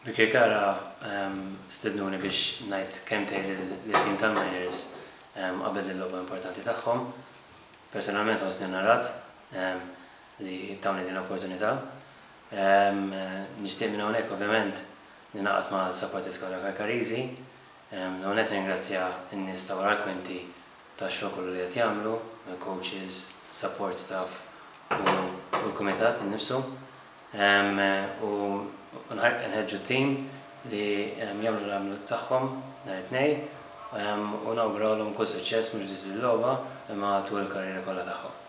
Birkirkara stednuni biex ngħid kelmtejn lit-tim tal-Miners qabel il-logħba importanti tagħhom. Personalment ħossni onorat li tawni din l-opportunità. Nixtieq minn hawnhekk ovvjament ningħaqad mal-supporters kollha Karkariżi. L-ewwel nett nirringrazzja n-nies ta' wara l-kwinti tax-xogħol kollu li qed jagħmlu, mill-coaches, support staff u l-kumitat innifsu. U nħeġġu t-tim li jagħmlu l-għamlu tagħhom nhar it-Tnejn u nawgurawlhom kull suċċess mhux biss bil-logħba imma tul il-karriera kollha tagħhom.